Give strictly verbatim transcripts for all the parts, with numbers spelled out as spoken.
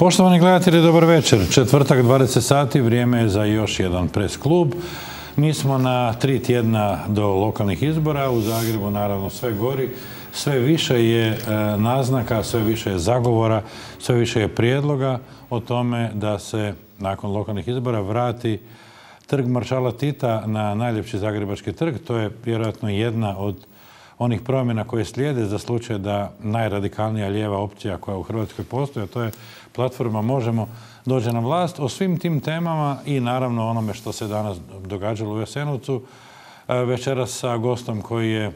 Poštovani gledatelji, dobar večer. Četvrtak, dvadeset sati, vrijeme je za još jedan pres klub. Mi smo na tri tjedna do lokalnih izbora. U Zagrebu naravno sve gori. Sve više je naznaka, sve više je zagovora, sve više je prijedloga o tome da se nakon lokalnih izbora vrati trg maršala Tita na najljepši zagrebački trg. To je vjerojatno jedna od onih promjena koje slijede za slučaj da najradikalnija lijeva opcija koja u Hrvatskoj postoji, a to je platforma Možemo, dođe na vlast. O svim tim temama i naravno onome što se danas događalo u Jasenovcu, večeras sa gostom koji je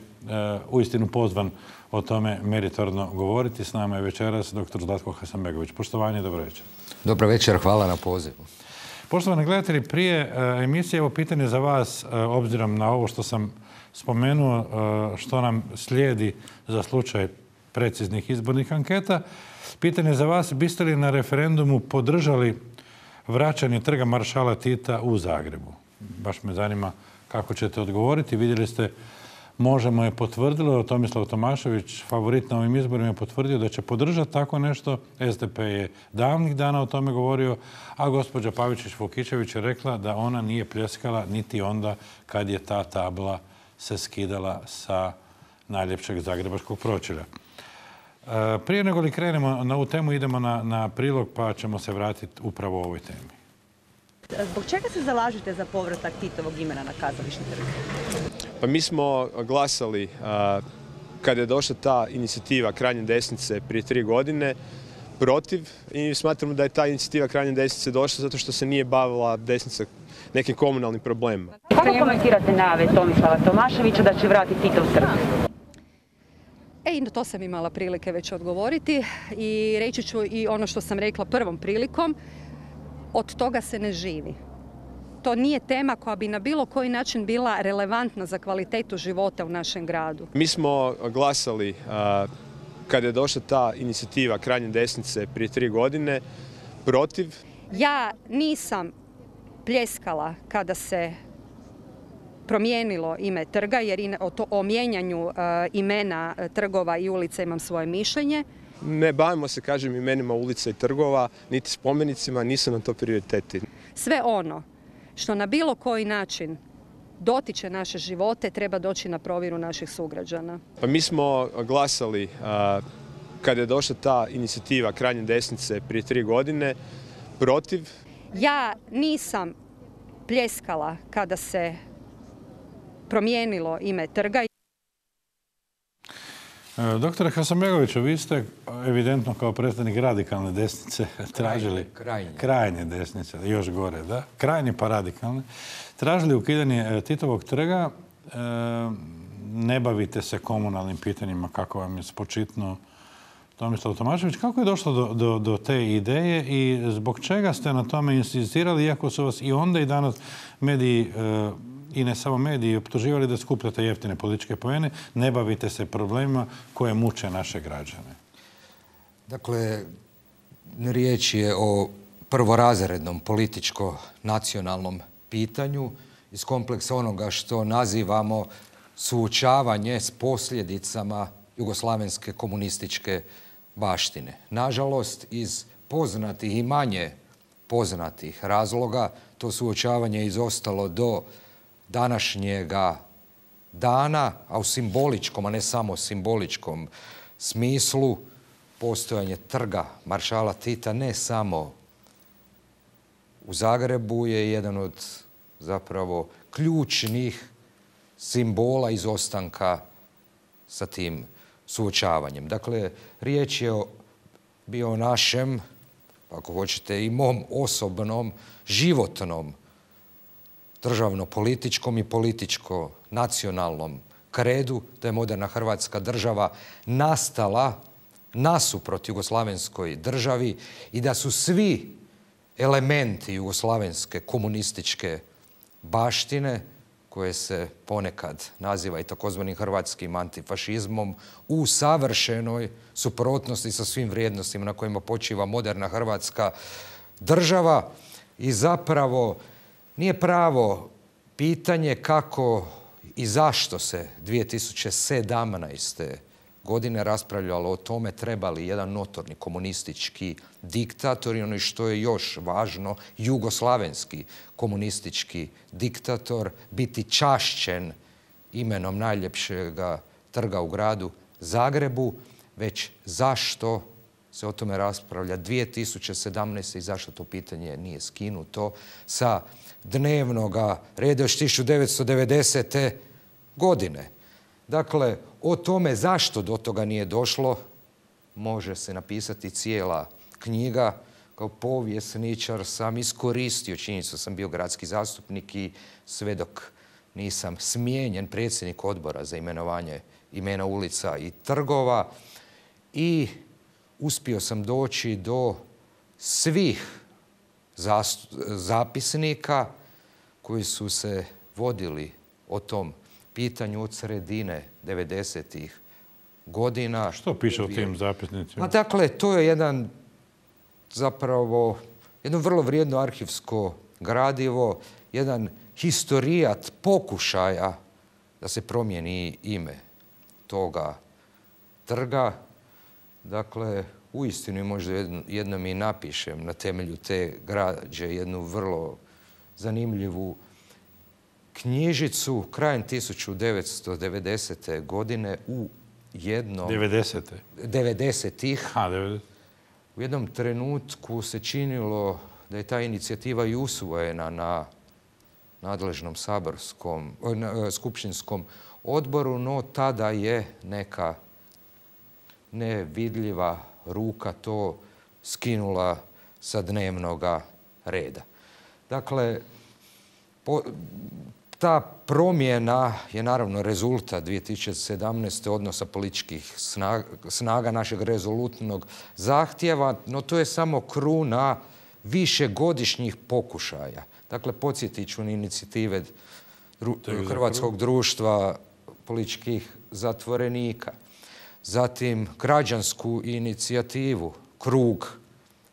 uistinu pozvan o tome meritorno govoriti. S nama je večeras doktor Zlatko Hasanbegović. Poštovanje, dobro večer. Dobro večer, hvala na pozivu. Poštovani gledatelji, prije emisije evo pitanje za vas, obzirom na ovo što sam spomenuo, što nam slijedi za slučaj preciznih izbornih anketa. Pitanje za vas, biste li na referendumu podržali vraćanje trga maršala Tita u Zagrebu? Baš me zanima kako ćete odgovoriti. Vidjeli ste, Možemo je potvrdilo, Tomislav Tomašević, favorit na ovim izborima, je potvrdio da će podržati tako nešto. S D P je davnih dana o tome govorio, a gospođa Pavičić-Vukičević je rekla da ona nije pljeskala niti onda kad je ta tabla se skidala sa najljepšeg zagrebačkog pročelja. Prije nego li krenemo na ovu temu, idemo na, na prilog pa ćemo se vratiti upravo o ovoj temi. Zbog čega se zalažete za povratak Titovog imena na Kazališni trg? Pa mi smo glasali a, kada je došla ta inicijativa krajnje desnice prije tri godine protiv i smatramo da je ta inicijativa krajnje desnice došla zato što se nije bavila desnica nekim komunalnim problemima. Kako komentirate najave Tomislava Tomaševića da će vratiti Titov trg? E, i na to sam imala prilike već odgovoriti i reći ću i ono što sam rekla prvom prilikom, od toga se ne živi. To nije tema koja bi na bilo koji način bila relevantna za kvalitetu života u našem gradu. Mi smo glasali a, kada je došla ta inicijativa krajnje desnice prije tri godine protiv. Ja nisam pljeskala kada se promijenilo ime trga, jer o mijenjanju imena trgova i ulica imam svoje mišljenje. Ne bavimo se, kažem, imenima ulica i trgova, niti spomenicima, nisu nam to prioriteti. Sve ono što na bilo koji način dotiče naše živote treba doći na provjeru naših sugrađana. Pa mi smo glasali a, kada je došla ta inicijativa krajnje desnice prije tri godine protiv. Ja nisam pljeskala kada se promijenilo ime trga. Doktore Hasanbegoviću, vi ste evidentno kao predstavnik radikalne desnice tražili... Krajnje. Krajnje desnice, još gore, da. Krajnje pa radikalne. Tražili ukidanje Titovog trga. Ne bavite se komunalnim pitanjima, kako vam je spočitnuo Tomislav Tomašević. Kako je došlo do, do, do te ideje i zbog čega ste na tome insistirali, iako su vas i onda i danas mediji, i ne samo mediji, optuživali da skupljate jeftine političke poene, ne bavite se problemima koje muče naše građane? Dakle, riječ je o prvorazrednom političko-nacionalnom pitanju iz kompleksa onoga što nazivamo suočavanje s posljedicama jugoslavenske komunističke baštine. Nažalost, iz poznatih i manje poznatih razloga to suočavanje je izostalo do današnjega dana, a u simboličkom, a ne samo simboličkom smislu, postojanje trga maršala Tita ne samo u Zagrebu je jedan od zapravo ključnih simbola izostanka sa tim suočavanjem. Dakle, riječ je o, bio o našem, ako hoćete i mom osobnom, životnom, državno-političkom i političko-nacionalnom kredu, da je moderna Hrvatska država nastala nasuprot jugoslavenskoj državi i da su svi elementi jugoslavenske komunističke baštine, koje se ponekad naziva i takozvanim hrvatskim antifašizmom, u savršenoj suprotnosti sa svim vrijednostima na kojima počiva moderna Hrvatska država i zapravo nije pravo pitanje kako i zašto se dvije tisuće sedamnaeste. godine raspravljalo o tome treba li jedan notorni komunistički diktator i ono što je još važno, jugoslavenski komunistički diktator biti čašćen imenom najljepšeg trga u gradu Zagrebu, već zašto se o tome raspravlja dvije tisuće sedamnaeste. i zašto to pitanje nije skinuto sa dnevnog reda još tisuću devetsto devedesete. godine. Dakle, o tome zašto do toga nije došlo može se napisati cijela knjiga. Kao povjesničar sam iskoristio činjenicu da sam bio gradski zastupnik i sve dok nisam smijenjen predsjednik odbora za imenovanje imena ulica i trgova i uspio sam doći do svih zapisnika koji su se vodili o tom pitanju od sredine devedesetih godina. Što piše o tim zapisnicima? A dakle, to je jedan zapravo jedno vrlo vrijedno arhivsko gradivo, jedan historijat pokušaja da se promijeni ime toga trga. Dakle, uistinu možda jednom i napišem na temelju te građe jednu vrlo zanimljivu knjižicu krajem tisuću devetsto devedesete. godine u jednom... devedesete. devedesetih. Ha, devedeset. U jednom trenutku se činilo da je ta inicijativa i usvojena na nadležnom saborskom, na skupštinskom odboru, no tada je neka nevidljiva ruka to skinula sa dnevnog reda. Dakle, po, ta promjena je naravno rezultat dvije tisuće sedamnaeste. odnosa političkih snaga, snaga našeg rezolutnog zahtjeva, no to je samo kruna višegodišnjih pokušaja. Dakle, podsjetit ću na inicijative dru, Hrvatskog društva političkih zatvorenika, zatim građansku inicijativu Krug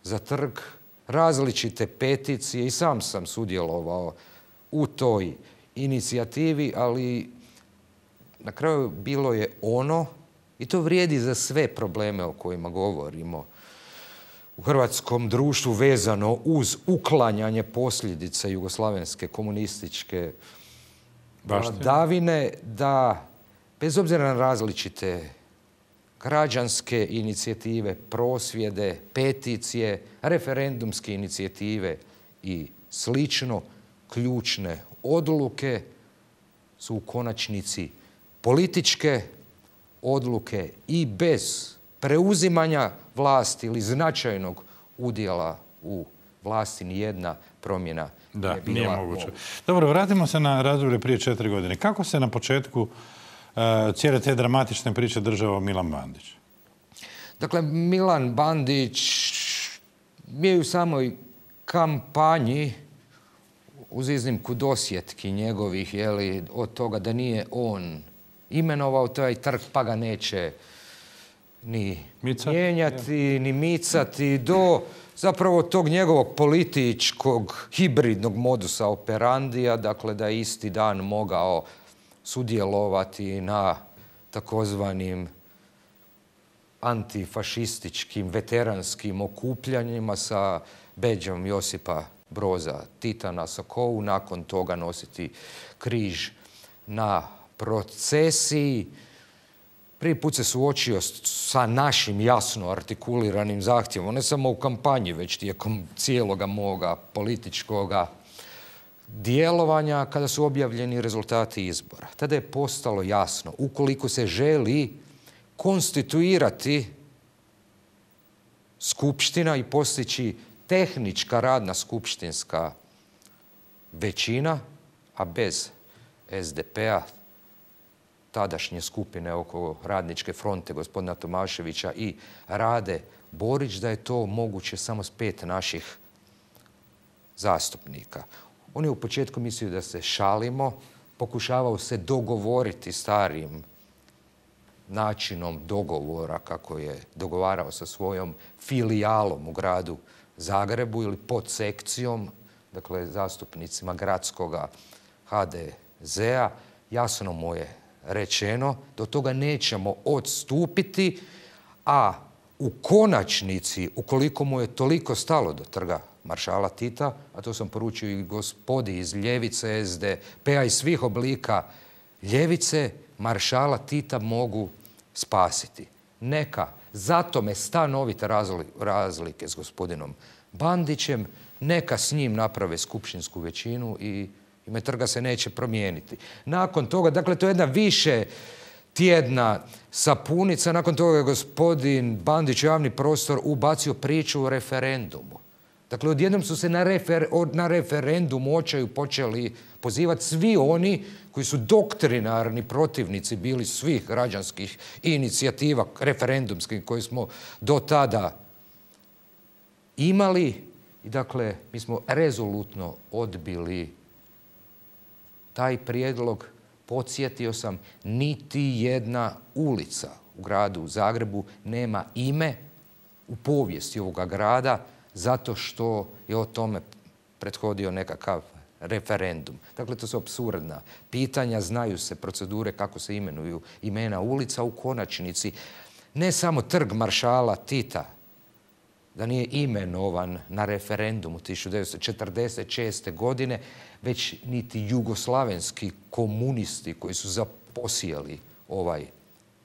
za trg, različite peticije i sam sam sudjelovao u toj inicijativi, ali na kraju bilo je ono, i to vrijedi za sve probleme o kojima govorimo u hrvatskom društvu vezano uz uklanjanje posljedica jugoslavenske komunističke vladavine, da bez obzira na različite građanske inicijative, prosvjede, peticije, referendumske inicijative i slično, ključne odluke su u konačnici političke odluke i bez preuzimanja vlasti ili značajnog udjela u vlasti nijedna promjena da, nije bila nije moguće. moguća. Dobro, vratimo se na razdoblje prije četiri godine. Kako se na početku uh, cijele te dramatične priče držao Milan Bandić? Dakle, Milan Bandić je u samoj kampanji, uz iznimku dosjetki njegovih, jeli, od toga da nije on imenovao taj trg, pa ga neće ni Micat, mijenjati, ja. ni micati, do zapravo tog njegovog političkog hibridnog modusa operandija, dakle da je isti dan mogao sudjelovati na takozvanim antifašističkim veteranskim okupljanjima sa bedžom Josipa Broza Tita na sakovu, nakon toga nositi križ na procesiji. Prvi put se suočio sa našim jasno artikuliranim zahtjevom, ne samo u kampanji, već tijekom cijeloga moga političkoga djelovanja, kada su objavljeni rezultati izbora. Tada je postalo jasno, ukoliko se želi konstituirati skupština i postići tehnička radna skupštinska većina, a bez es de pe-a, tadašnje skupine oko Radničke fronte, gospodina Tomaševića i Rade Borić, da je to moguće samo s pet naših zastupnika. On je u početku mislio da se šalimo, pokušavao se dogovoriti starim načinom dogovora, kako je dogovarao sa svojom filijalom u gradu Zagrebu ili pod sekcijom, dakle zastupnicima gradskoga ha de zea. Jasno mu je rečeno, do toga nećemo odstupiti, a u konačnici, ukoliko mu je toliko stalo do trga maršala Tita, a to sam poručio i gospodi iz ljevice, es de pe-a i svih oblika ljevice, maršala Tita mogu spasiti. Neka zato me stanovite razlike s gospodinom Bandićem, neka s njim naprave skupštinsku većinu i ime trga se neće promijeniti. Nakon toga, dakle, to je jedna više tjedna sapunica, nakon toga je gospodin Bandić u javni prostor ubacio priču o referendumu. Dakle, odjednom su se na, refer, na referendumu očaju počeli pozivati svi oni koji su doktrinarni protivnici bili svih građanskih inicijativa referendumskih koje smo do tada imali. I dakle, mi smo rezolutno odbili taj prijedlog. Podsjetio sam, niti jedna ulica u gradu Zagrebu nema ime u povijesti ovoga grada zato što je o tome prethodio nekakav referendum. Dakle, to su apsurdna pitanja, znaju se procedure kako se imenuju imena ulica. U konačnici ne samo trg maršala Tita da nije imenovan na referendumu tisuću devetsto četrdeset šeste. godine, već niti jugoslavenski komunisti koji su zaposijali ovaj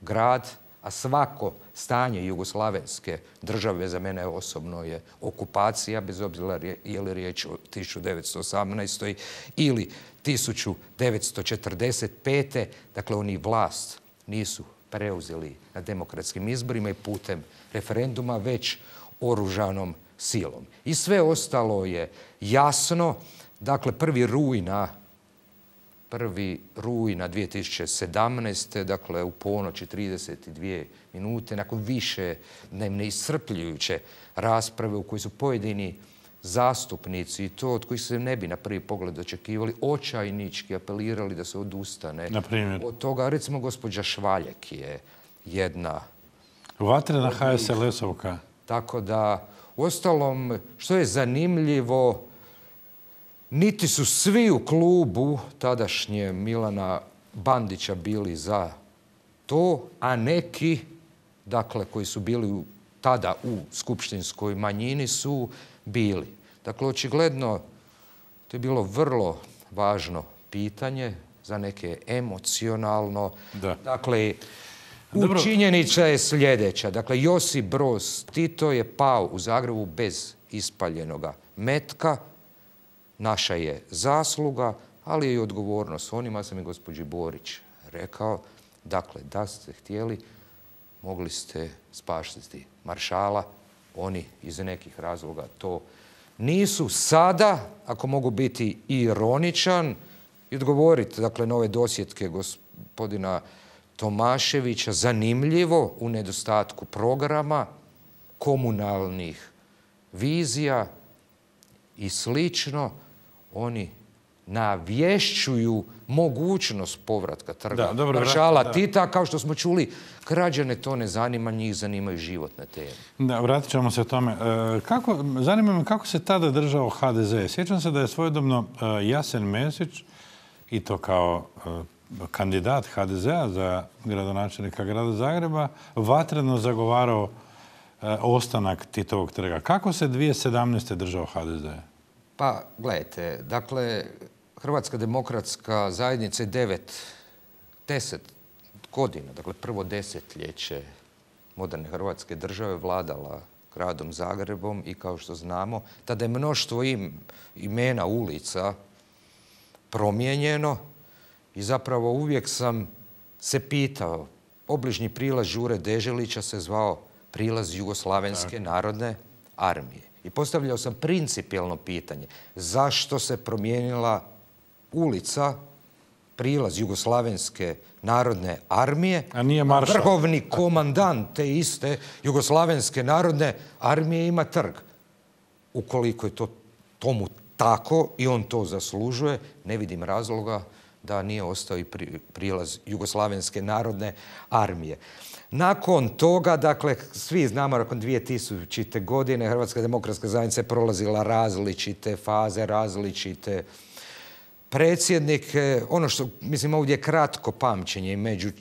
grad, a svako stanje jugoslavenske države za mene osobno je okupacija, bez obzira je li riječ o tisuću devetsto osamnaestoj. ili tisuću devetsto četrdeset pete. Dakle, oni vlast nisu preuzeli na demokratskim izborima i putem referenduma, već oružanom silom. I sve ostalo je jasno. Dakle, prvi rujna, prvi rujna dvije tisuće sedamnaeste. dakle u ponoć i trideset dvije minute, nakon više dnevne iscrpljujuće rasprave u kojoj su pojedini zastupnici, i to od kojih se ne bi na prvi pogled očekivali, očajnički apelirali da se odustane od toga. Recimo, gospođa Švaljek je jedna vatrena ha es el es-ovka. Tako da, uostalom, što je zanimljivo, niti su svi u klubu tadašnje Milana Bandića bili za to, a neki, dakle, koji su bili tada u skupštinskoj manjini su bili. Dakle, očigledno, to je bilo vrlo važno pitanje, za neke emocionalno. Da. Dakle, činjenica je sljedeća. Dakle, Josip Broz Tito je pao u Zagrebu bez ispaljenoga metka. Naša je zasluga, ali je i odgovornost. Onima sam i gospođi Borić rekao, dakle, da ste htjeli, mogli ste spasiti maršala. Oni iz nekih razloga to nisu. Sada, ako mogu biti ironičan i odgovoriti, dakle, na ove dosjetke gospodina Tomaševića, zanimljivo, u nedostatku programa, komunalnih vizija i slično, oni navješćuju mogućnost povratka trga maršala Tita. Kao što smo čuli, građane to ne zanima, njih zanimaju životne teme. Da, vratit ćemo se tome. Kako, zanima me kako se tada držao ha de ze. Sjećam se da je svojedobno Jasen Mesić, i to kao kandidat ha de zea za gradonačelnika grada Zagreba, vatreno zagovarao ostanak Titovog trga. Kako se dvije tisuće sedamnaeste. držao ha de ze? Pa, gledajte, dakle, Hrvatska demokratska zajednica je devet, deset godina, dakle prvo desetljeće moderne Hrvatske države vladala gradom Zagrebom i, kao što znamo, tada je mnoštvo im, imena ulica promijenjeno i zapravo uvijek sam se pitao, obližnji prilaz Đure Deželića se zvao prilaz Jugoslavenske narodne armije. I postavljao sam principijelno pitanje, zašto se promijenila ulica, prilaz Jugoslavenske narodne armije, a nije maršal? Vrhovni komandant te iste Jugoslavenske narodne armije ima trg. Ukoliko je to tomu tako i on to zaslužuje, ne vidim razloga da nije ostao i prilaz Jugoslavenske narodne armije. Nakon toga, dakle, svi znamo, nakon dvije tisućite. godine Hrvatska demokratska zajednica je prolazila različite faze, različite predsjednik, ono što, mislim, ovdje je kratko pamćenje i među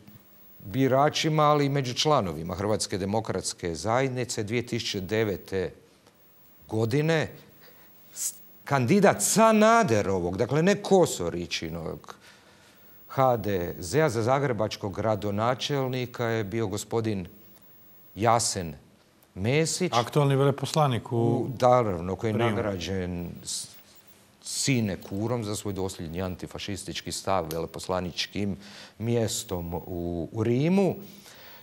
biračima, ali i među članovima Hrvatske demokratske zajednice dvije tisuće devete. godine kandidat Sanaderovog, dakle ne Kosoričinog, ha de zea za zagrebačkog gradonačelnika je bio gospodin Jasen Mesić. Aktualni veleposlanik u... Naravno, koji je nagrađen sinekurom za svoj dosljedni antifašistički stav veleposlaničkim mjestom u, u Rimu,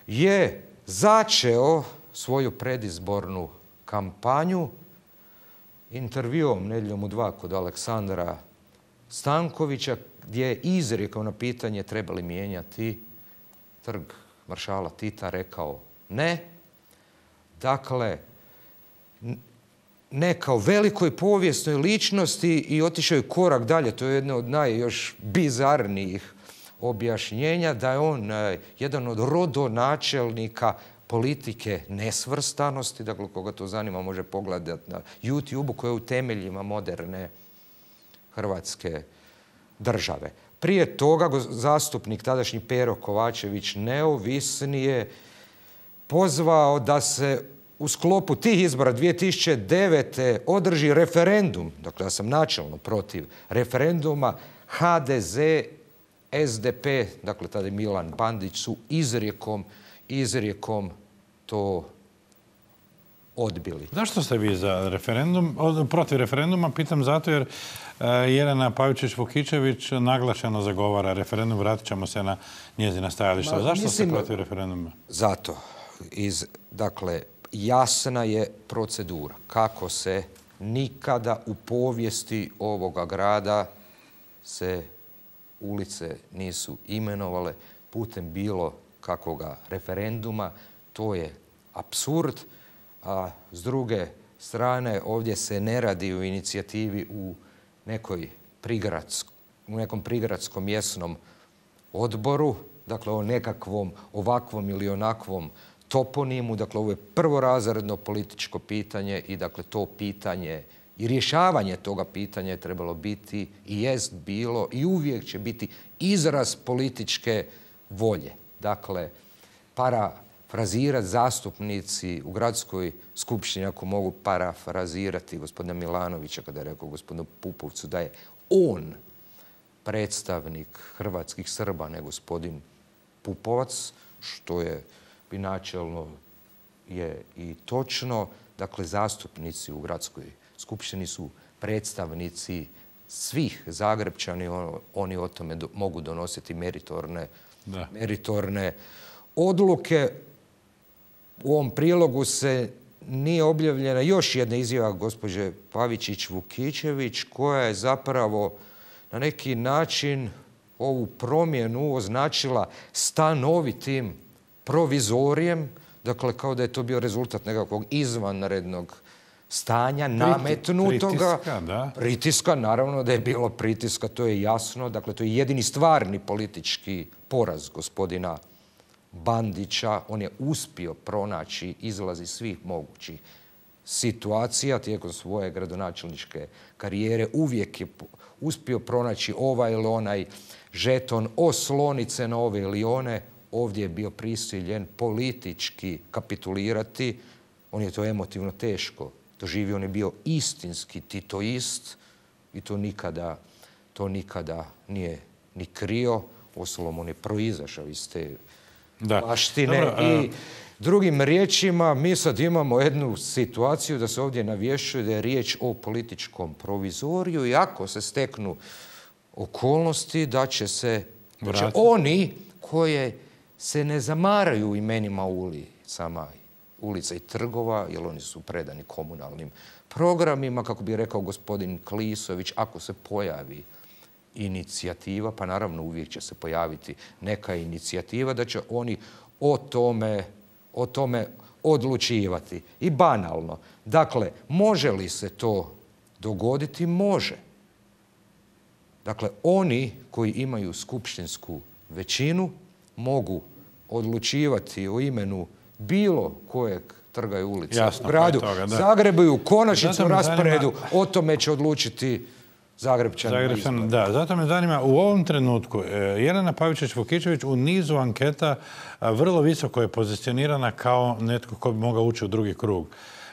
je začeo svoju predizbornu kampanju intervjuom Nedjeljom u dva kod Aleksandra Stankovića, gdje je izrekao na pitanje treba li mijenjati trg maršala Tita, rekao ne. Dakle, ne kao velikoj povijesnoj ličnosti i otišao je korak dalje. To je jedno od najjoš bizarnijih objašnjenja, da je on jedan od rodonačelnika politike nesvrstanosti, dakle koga to zanima može pogledati na YouTube-u, koja je u temeljima moderne Hrvatske države. Prije toga zastupnik tadašnji Pero Kovačević Neovisni je pozvao da se u sklopu tih izbora dvije tisuće devete. održi referendum, dakle ja sam načelno protiv referenduma, ha de ze, es de pe, dakle tada je Milan Bandić, su izrijekom, izrijekom to odbili. Zašto ste vi za referendum, protiv referenduma? Pitam zato jer Jelena Pavičić-Vukičević naglašeno zagovara referendum, vratit ćemo se na njezina stajališta. Zašto ste protiv referenduma? Zato. Iz, dakle, jasna je procedura kako se nikada u povijesti ovoga grada se ulice nisu imenovale putem bilo kakvoga referenduma. To je apsurd. A s druge strane, ovdje se ne radi o inicijativi u nekoj prigradskom, u nekom prigradskom mjesnom odboru, dakle o nekakvom ovakvom ili onakvom toponimu. Dakle, ovo je prvorazredno političko pitanje i dakle to pitanje i rješavanje toga pitanja je trebalo biti i jest bilo i uvijek će biti izraz političke volje. Dakle, parafrazirati zastupnici u gradskoj skupštini, ako mogu parafrazirati gospodina Milanovića kada je rekao gospodinu Pupovcu da je on predstavnik hrvatskih Srba, ne gospodin Pupovac, što je bi načelno je i točno. Dakle, zastupnici u gradskoj skupštini su predstavnici svih Zagrepčani, oni o tome do, mogu donositi meritorne, meritorne odluke. U ovom prilogu se nije objavljena još jedna izjava gospođe Pavičić-Vukičević koja je zapravo na neki način ovu promjenu označila stanovitim provizorijem, dakle kao da je to bio rezultat nekakvog izvanrednog stanja, nametnutoga. Pritiska, da. Pritiska, naravno da je bilo pritiska, to je jasno. Dakle, to je jedini stvarni politički poraz gospodina Bandića. On je uspio pronaći izlaz iz svih mogućih situacija tijekom svoje gradonačelničke karijere. Uvijek je uspio pronaći ovaj ili onaj žeton, oslonice na ove ili one. Ovdje je bio prisiljen politički kapitulirati. On je to emotivno teško doživio. On je bio istinski titoist i to nikada, to nikada nije ni krio. Uostalom, on je proizašao iz te baštine. Dobro, I drugim riječima, mi sad imamo jednu situaciju da se ovdje navješćuje da je riječ o političkom provizoriju i ako se steknu okolnosti da će se da će oni koje se ne zamaraju imenima ulicama, ulica i trgova, jer oni su predani komunalnim programima, kako bi rekao gospodin Klisović, ako se pojavi inicijativa, pa naravno uvijek će se pojaviti neka inicijativa, da će oni o tome, o tome odlučivati. I banalno. Dakle, može li se to dogoditi? Može. Dakle, oni koji imaju skupštinsku većinu mogu odlučivati o imenu bilo kojeg trga i ulica u gradu Zagrebu i u konačnicu rasporedu o tome će odlučiti Zagrebčanima Zagrebčan, da, zato me zanima, u ovom trenutku Jelena Pavičić-Vukičević u nizu anketa vrlo visoko je pozicionirana kao netko ko bi mogao ući u drugi krug.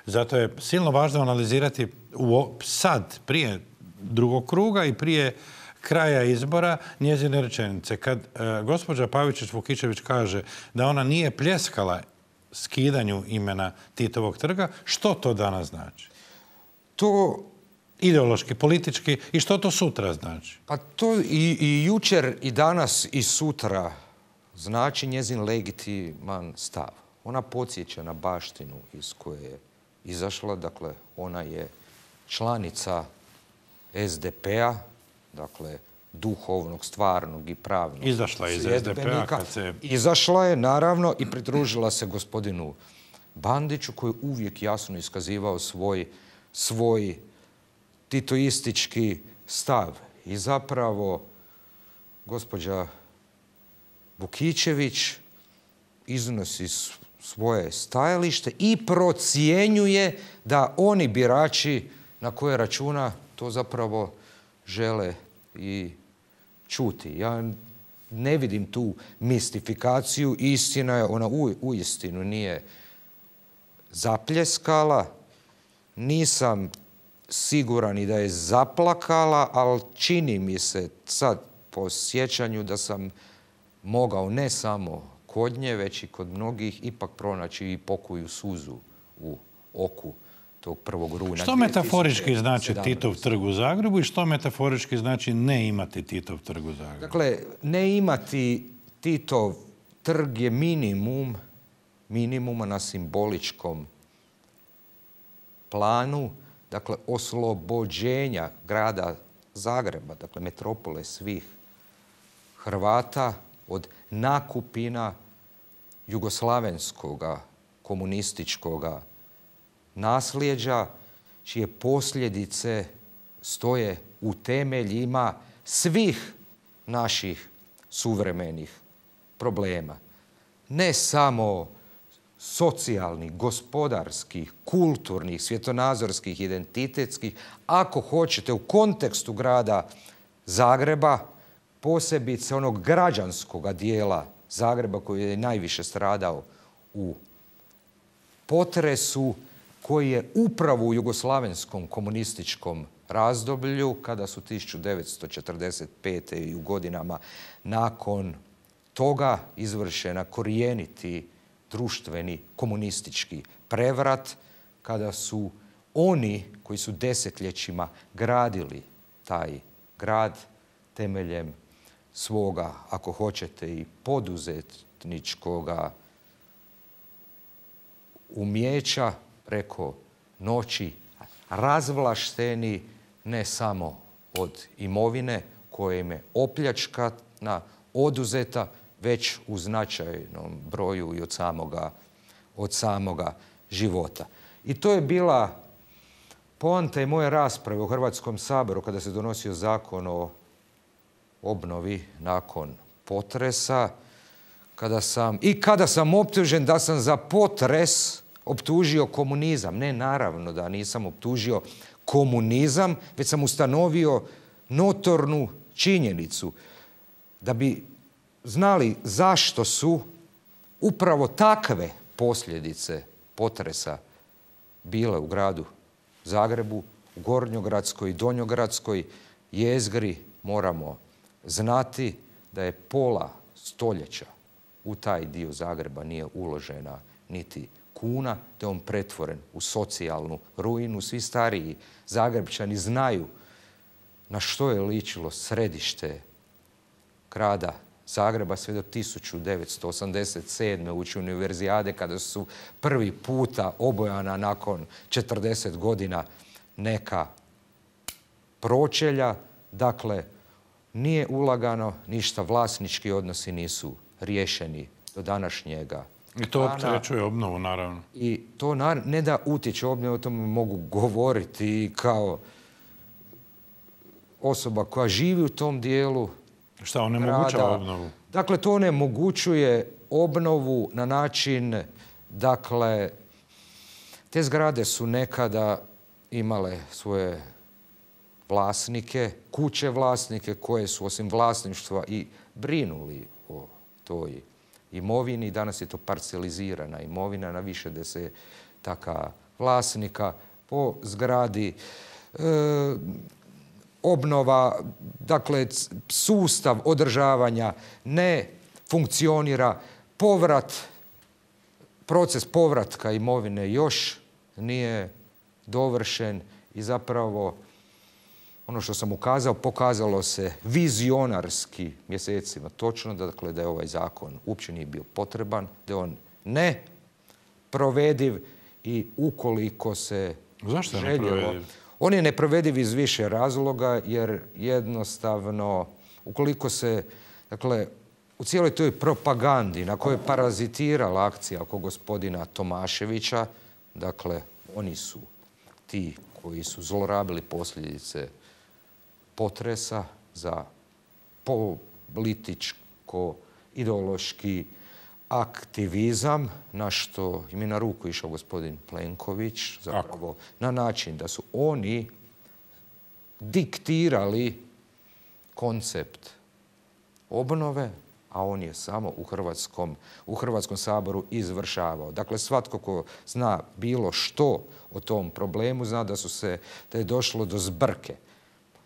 Zato je silno važno analizirati u, sad, prije drugog kruga i prije kraja izbora njezine rečenice. Kad e, gospođa Pavičić-Vukičević kaže da ona nije pljeskala skidanju imena Titovog trga, što to danas znači? To ideološki, politički i što to sutra znači? Pa to i, i jučer i danas i sutra znači njezin legitiman stav. Ona podsjeća na baštinu iz koje je izašla, dakle ona je članica es de pe-a, dakle duhovnog, stvarnog i pravnog. Izašla je iz es de pe-a kad se... Izašla je, naravno, i pridružila se gospodinu Bandiću koji je uvijek jasno iskazivao svoj, svoj titoistički stav. I zapravo gospođa Vukičević iznosi svoje stajalište i procjenjuje da oni birači na koje računa to zapravo žele i čuti. Ja ne vidim tu mistifikaciju. Istina je, ona u, uistinu nije zapljeskala. Nisam siguran i da je zaplakala, ali čini mi se sad po sjećanju da sam mogao ne samo kod nje, već i kod mnogih ipak pronaći i pokoju suzu u oku tog prvog rujna. Što metaforički znači Titov trg u Zagrebu i što metaforički znači ne imati Titov trg u Zagrebu? Dakle, ne imati Titov trg je minimum, minimuma na simboličkom planu, dakle, oslobođenja grada Zagreba, dakle, metropole svih Hrvata od nakupina jugoslavenskoga komunističkoga nasljeđa, čije posljedice stoje u temeljima svih naših suvremenih problema. Ne samo socijalnih, gospodarskih, kulturnih, svjetonazorskih, identitetskih, ako hoćete u kontekstu grada Zagreba, posebice onog građanskog dijela Zagreba koji je najviše stradao u potresu, koji je upravo u jugoslavenskom komunističkom razdoblju, kada su tisuću devetsto četrdeset pete i u godinama nakon toga izvršena korijeniti društveni komunistički prevrat, kada su oni koji su desetljećima gradili taj grad temeljem svoga, ako hoćete, i poduzetničkoga umijeća preko noći razvlašteni ne samo od imovine koja im je opljačkana, oduzeta, već u značajnom broju i od samoga, od samoga života. I to je bila poanta i moje rasprave u Hrvatskom saboru kada se donosio zakon o obnovi nakon potresa, kada sam, i kada sam optužen da sam za potres optužio komunizam. Ne, naravno da nisam optužio komunizam, već sam ustanovio notornu činjenicu da bi znali zašto su upravo takve posljedice potresa bile u gradu Zagrebu, u Gornjogradskoj i Donjogradskoj jezgri. Moramo znati da je pola stoljeća u taj dio Zagreba nije uložena niti kuna, te on pretvoren u socijalnu ruinu. Svi stariji Zagrebčani znaju na što je ličilo središte grada Zagreba sve do tisuću devetsto osamdeset sedme ući univerzijade, kada su prvi puta obojana nakon četrdeset godina neka pročelja. Dakle, nije ulagano ništa, vlasnički odnosi nisu riješeni do današnjega. I to opterećuje obnovu, naravno. I to ne da utječe obnovu, o tome mogu govoriti kao osoba koja živi u tom dijelu. Šta, onemogućava obnovu? Dakle, to onemogućuje obnovu na način, dakle, te zgrade su nekada imale svoje vlasnike, kuće vlasnike koje su osim vlasništva i brinuli o toj imovini. Danas je to parcelizirana imovina na više desetaka vlasnika. Po zgradi e, obnova, dakle sustav održavanja ne funkcionira, povrat, proces povratka imovine još nije dovršen i zapravo ono što sam ukazao pokazalo se vizionarski mjesecima točno, dakle da je ovaj zakon uopće nije bio potreban, da je on ne provediv i ukoliko se Zašto je željelo, neprovediv? On je neprovediv iz više razloga jer jednostavno ukoliko se, dakle, u cijeloj toj propagandi na kojoj je parazitirala akcija oko gospodina Tomaševića, dakle, oni su ti koji su zlorabili posljedice potresa za političko-ideološki aktivizam, na što im je na ruku išao gospodin Plenković, zapravo na način da su oni diktirali koncept obnove, a on je samo u Hrvatskom, u Hrvatskom saboru izvršavao. Dakle, svatko ko zna bilo što o tom problemu, zna da su se, da je došlo do zbrke.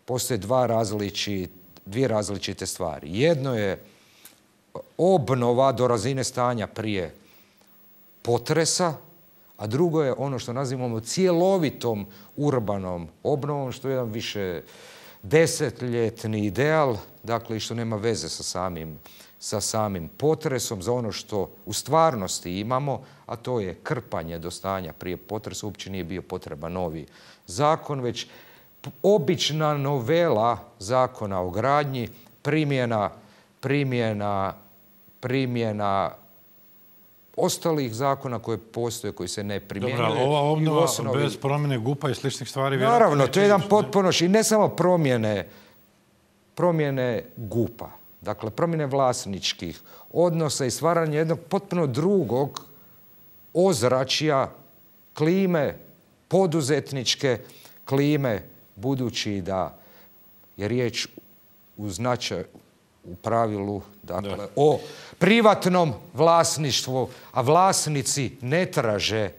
Postoje dva različite, dvije različite stvari. Jedno je obnova do razine stanja prije potresa, a drugo je ono što nazivamo cjelovitom urbanom obnovom, što je jedan više desetljetni ideal, dakle, i što nema veze sa samim, sa samim potresom, za ono što u stvarnosti imamo, a to je krpanje do stanja prije potresa. Uopće nije bio potreban novi zakon, već obična novela zakona o gradnji, primjena, primjena, primjena ostalih zakona koje postoje, koji se ne primjenjuju. Dobro, ova obnova osnovi... bez promjene GUP-a i sličnih stvari... Naravno, to je jedan potpuno... I ne samo promjene, promjene GUP-a, dakle, promjene vlasničkih odnosa i stvaranje jednog potpuno drugog ozračja, klime, poduzetničke klime, budući da je riječ u značaju, u pravilu, dakle, da. o privatnom vlasništvu, a vlasnici ne traže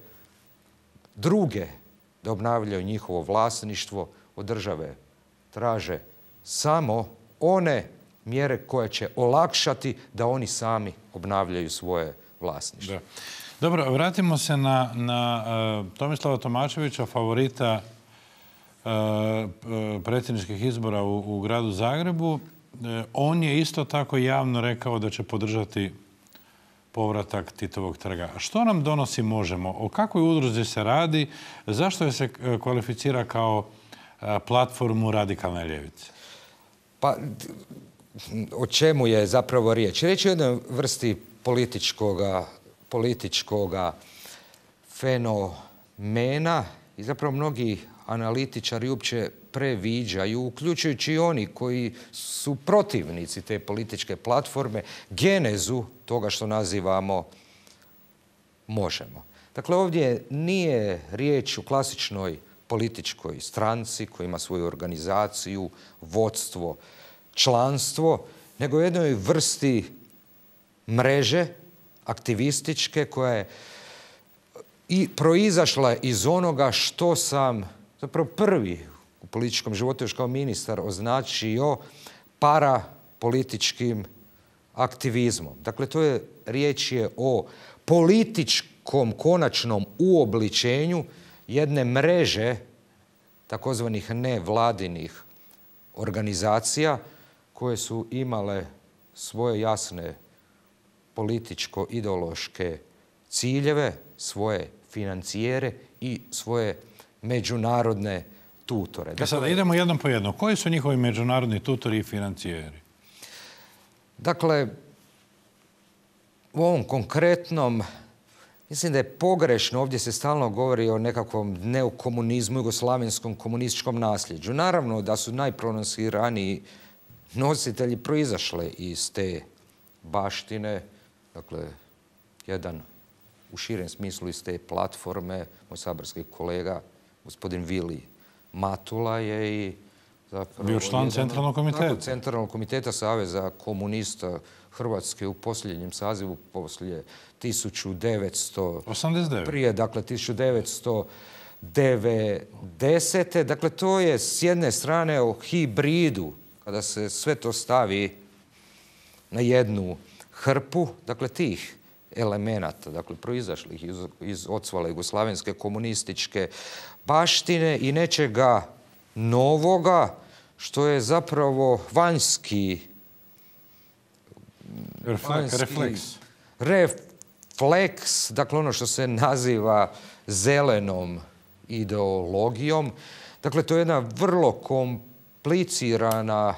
druge da obnavljaju njihovo vlasništvo, od države traže samo one mjere koje će olakšati da oni sami obnavljaju svoje vlasništvo. Da. Dobro, vratimo se na, na uh, Tomislava Tomaševića, favorita uh, predsjedničkih izbora u, u gradu Zagrebu. On je isto tako javno rekao da će podržati povratak Titovog trga. Što nam donosi Možemo? O kakvoj udruzi se radi? Zašto je se kvalificira kao platformu radikalne ljevice? Pa, o čemu je zapravo riječ? Riječ je o jednoj vrsti političkoga, političkoga fenomena i zapravo mnogi analitičari uopće previđaju, uključujući i oni koji su protivnici te političke platforme, genezu toga što nazivamo Možemo. Dakle, ovdje nije riječ o klasičnoj političkoj stranci koja ima svoju organizaciju, vodstvo, članstvo, nego o jednoj vrsti mreže aktivističke koja je i proizašla iz onoga što sam zapravo prvi u političkom životu još kao ministar označio parapolitičkim aktivizmom. Dakle, to je riječ je o političkom konačnom uobličenju jedne mreže takozvanih nevladinih organizacija koje su imale svoje jasne političko-ideološke ciljeve, svoje financijere i svoje međunarodne tutore. Dakle, sada idemo jednom po jednom. Koji su njihovi međunarodni tutori i financijeri? Dakle, u ovom konkretnom, mislim da je pogrešno, ovdje se stalno govori o nekakvom neokomunizmu, jugoslavenskom komunističkom nasljeđu. Naravno da su najprononsiraniji nositelji proizašle iz te baštine, dakle, jedan u širem smislu iz te platforme, moj saborski kolega, gospodin Vili Matula je i Bio član centralnog komiteta. Centralnog komiteta Saveza komunista Hrvatske u posljednjem sazivu poslije tisuću devetsto osamdeset devet. Prije, dakle, tisuću devetsto devedesete. Dakle, to je s jedne strane o hibridu, kada se sve to stavi na jednu hrpu, dakle, tih elemenata, dakle, proizašlih iz, iz ocvale jugoslavenske komunističke baštine i nečega novoga, što je zapravo vanjski, vanjski refleks. refleks, dakle ono što se naziva zelenom ideologijom. Dakle, to je jedna vrlo komplicirana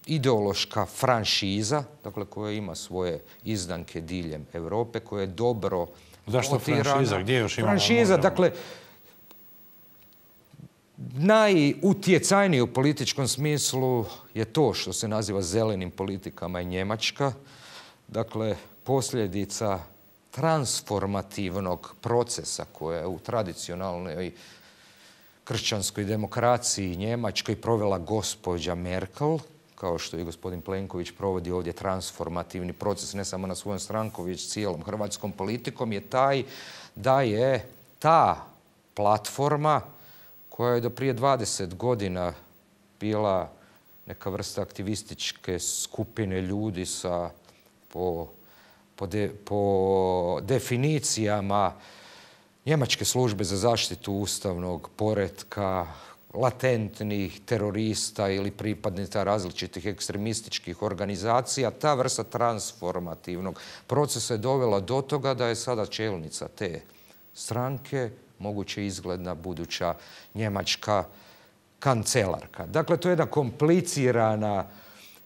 ideološka franšiza, dakle, koja ima svoje izdanke diljem Europe, koja je dobro Zašto franšiza? Gdje još imamo? Franšiza, dakle, najutjecajniji u političkom smislu je to što se naziva zelenim politikama i Njemačka. Dakle, posljedica transformativnog procesa koja je u tradicionalnoj kršćanskoj demokraciji Njemačkoj provela gospođa Merkel, kao što i gospodin Plenković provodi ovdje transformativni proces ne samo na svojom strankom, već cijelom hrvatskom politikom, je taj da je ta platforma koja je do prije dvadeset godina bila neka vrsta aktivističke skupine ljudi sa po, po, de, po definicijama Njemačke službe za zaštitu ustavnog poretka, latentnih terorista ili pripadnika različitih ekstremističkih organizacija, ta vrsta transformativnog procesa je dovela do toga da je sada čelnica te stranke moguće izgledna buduća njemačka kancelarka. Dakle, to je jedna komplicirana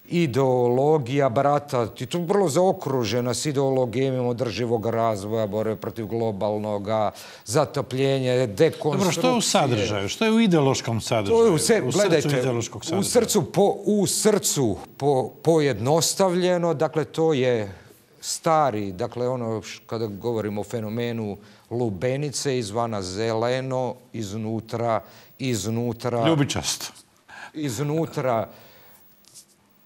ideologija, barata, i to vrlo zaokružena s ideologijom održivog razvoja, borbe protiv globalnog zatopljenja, dekonstrukcije. Dobro, što je u sadržaju? Što je u ideološkom sadržaju? To je u, se, u gledajte, srcu ideološkog sadržaja? U srcu, po, u srcu po, pojednostavljeno, dakle, to je stari, dakle, ono kada govorimo o fenomenu lubenice, izvana zeleno, iznutra, iznutra... Ljubičasto. Iznutra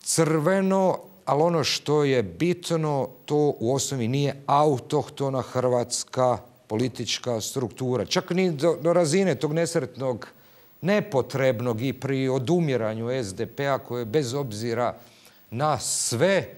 crveno, ali ono što je bitno, to u osnovi nije autohtona hrvatska politička struktura. Čak ni do, do razine tog nesretnog, nepotrebnog i pri odumiranju es de pe a koje bez obzira na sve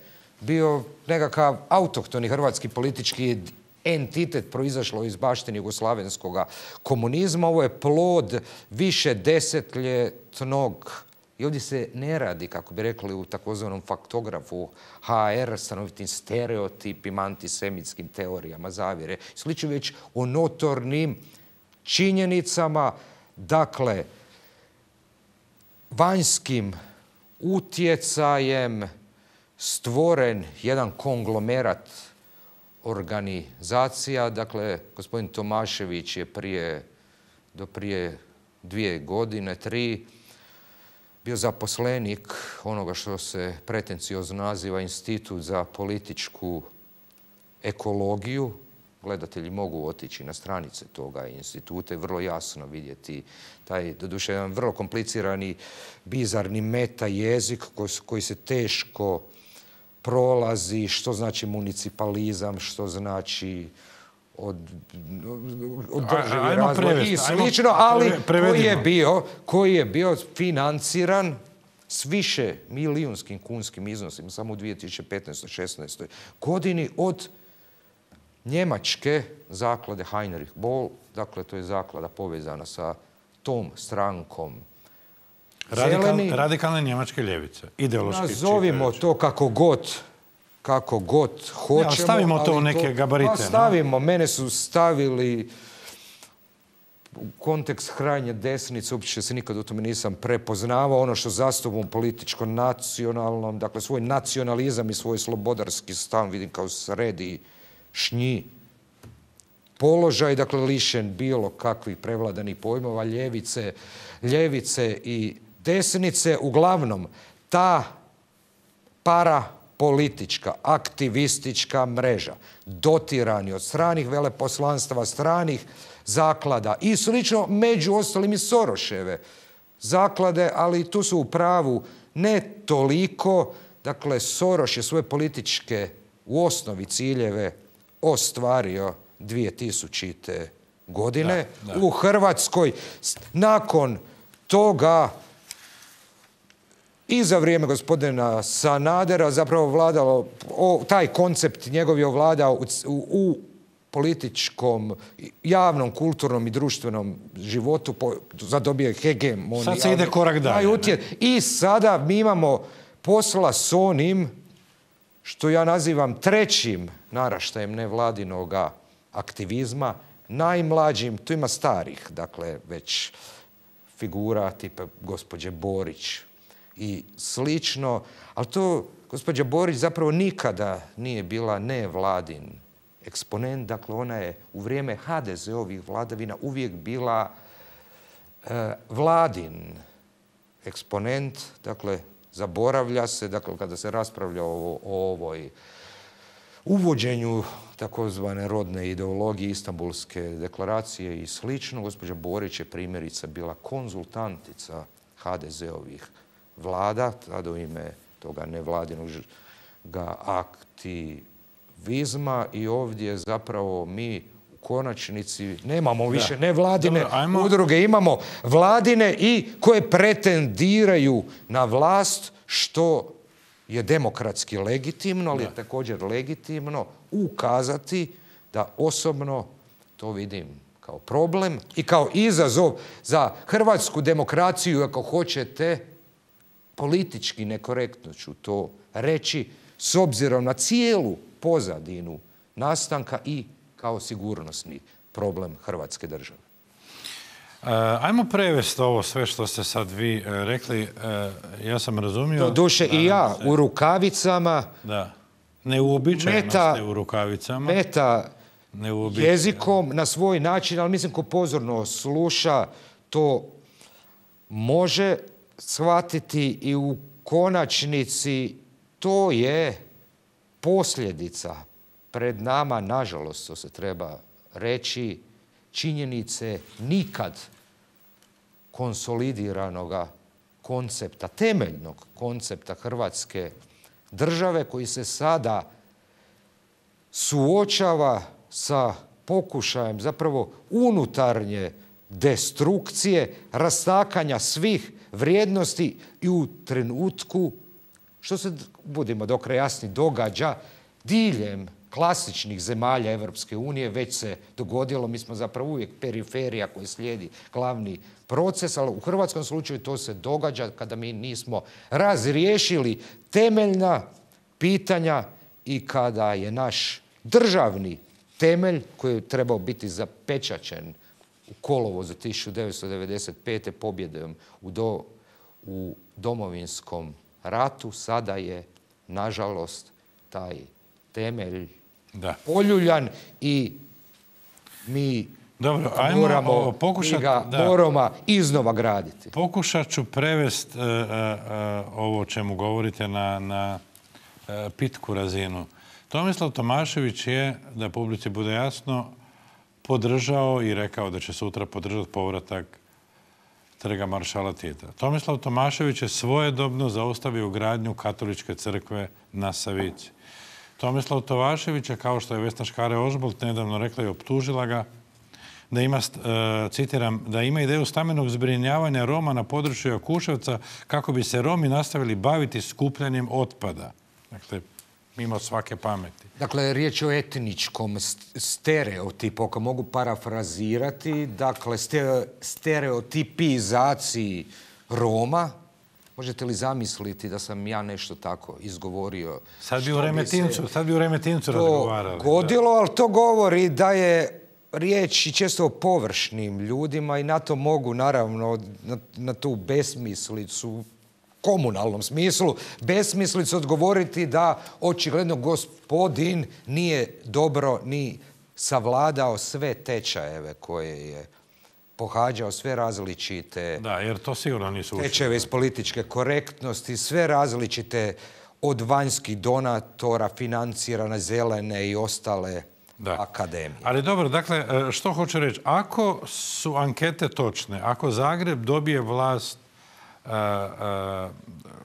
bio nekakav autohtoni hrvatski politički entitet proizašlo iz baštine jugoslavenskog komunizma. Ovo je plod više desetljetnog. I ovdje se ne radi, kako bi rekli u takozvanom faktografu ha er, stanovitim stereotipima, antisemitskim teorijama zavjere. Slično već o notornim činjenicama, dakle, vanjskim utjecajem stvoren jedan konglomerat organizacija. Dakle, gospodin Tomašević je prije, do prije dvije godine, tri, bio zaposlenik onoga što se pretenciozno naziva Institut za političku ekologiju. Gledatelji mogu otići na stranice toga instituta i vrlo jasno vidjeti taj, doduše, jedan vrlo komplicirani, bizarni meta jezik koji se teško prolazi, što znači municipalizam, što znači od, održivi razvoj i slično, ali koji je bio, koji je bio financiran s više milijunskim kunskim iznosima samo u dvije tisuće petnaestoj šesnaestoj godini od njemačke zaklade Heinrich Böll. Dakle, to je zaklada povezana sa tom strankom Radikal, radikalne njemačke ljevice, ideološki. Nazovimo čitajući to kako god kako god hoćemo. Ja, stavimo to u neke to, gabarite. Pa stavimo. No? Mene su stavili u kontekst krajnje desnice, uopće se nikad u tome nisam prepoznavao. Ono što zastupam političko-nacionalnom, dakle svoj nacionalizam i svoj slobodarski stav vidim kao središnji položaj, dakle lišen bilo kakvih prevladanih pojmova, ljevice, ljevice i desnice. Uglavnom, ta para politička, aktivistička mreža, dotirani od stranih veleposlanstava, stranih zaklada i slično, među ostalim i Soroševe zaklade, ali tu su u pravu ne toliko. Dakle, Soros je svoje političke u osnovi ciljeve ostvario dvije tisućite. godine da, da. u Hrvatskoj. Nakon toga i za vrijeme gospodina Sanadera zapravo vladalo, o, taj koncept njegov je ovladao u, u, u političkom, javnom, kulturnom i društvenom životu, po, zadobio je hegemoniju. Sad se ide korak dalje. I sada mi imamo posla s onim što ja nazivam trećim naraštajem nevladinoga aktivizma, najmlađim, tu ima starih, dakle, već figura tipa gospođe Borić i slično, ali to gospođa Borić zapravo nikada nije bila nevladin eksponent, dakle ona je u vrijeme ha de ze ovih vladavina uvijek bila e, vladin eksponent, dakle zaboravlja se, dakle kada se raspravlja o, o ovoj uvođenju takozvane rodne ideologije, Istanbulske deklaracije i slično, gospođa Borić je primjerice bila konzultantica ha de ze ovih vlada, tada u ime toga nevladinog aktivizma i ovdje zapravo mi u konačnici nemamo više nevladine Dobro, ajmo... udruge, imamo vladine i koje pretendiraju na vlast, što je demokratski legitimno, ali je također legitimno ukazati da osobno to vidim kao problem i kao izazov za hrvatsku demokraciju, ako hoćete, politički nekorektno ću to reći, s obzirom na cijelu pozadinu nastanka i kao sigurnosni problem Hrvatske države. Ajmo prevesti ovo sve što ste sad vi rekli. Ja sam razumio... Do duše i ja u rukavicama. Da. Neuobičajeno ste u rukavicama. Meta jezikom na svoj način, ali mislim ko pozorno sluša to može shvatiti i u konačnici to je posljedica pred nama, nažalost, to se treba reći, činjenice nikad konsolidiranoga koncepta, temeljnog koncepta Hrvatske države koji se sada suočava sa pokušajem zapravo unutarnje destrukcije, rastakanja svih vrijednosti i u trenutku, što se, budimo do kraja jasni, događa diljem klasičnih zemalja Evropske unije, već se dogodilo, mi smo zapravo uvijek periferija koja slijedi glavni proces, ali u hrvatskom slučaju to se događa kada mi nismo razriješili temeljna pitanja i kada je naš državni temelj, koji je trebao biti zapečaćen u kolovozu tisuću devetsto devedeset pete pobjedom u, do, u Domovinskom ratu, sada je, nažalost, taj temelj da. poljuljan i mi Dobro, moramo, ajmo pokušat, ga da. moramo iznova graditi. Pokušat ću prevesti uh, uh, ovo o čemu govorite na, na uh, pitku razinu. Tomislav Tomašević je, da publici bude jasno, podržao i rekao da će sutra podržati povratak Trga maršala Tita. Tomislav Tomašević je svojedobno zaustavio gradnju katoličke crkve na Savici. Tomislav Tomašević je, kao što je Vesna Škare-Ožbolt nedavno rekla i optužila ga, da ima, citiram, da ima ideju stambenog zbrinjavanja Roma na području Jakuševca kako bi se Romi nastavili baviti skupljanjem otpada. Dakle, mimo svake pameti. Dakle, riječ je o etničkom stereotipu, ako mogu parafrazirati, dakle, stereotipizaciji Roma. Možete li zamisliti da sam ja nešto tako izgovorio? Sad bi u Remetincu, sad bi u Remetincu razgovarali. To godilo, ali to govori da je riječ i često o površnim ljudima i na to mogu, naravno, na, na tu besmislicu, komunalnom smislu, besmislicu odgovoriti da očigledno gospodin nije dobro ni savladao sve tečajeve koje je pohađao, sve različite da, jer to sigurno nisu tečajeve iz političke korektnosti, sve različite od vanjskih donatora financirane zelene i ostale da. akademije. Ali dobro, dakle, što hoću reći? Ako su ankete točne, ako Zagreb dobije vlast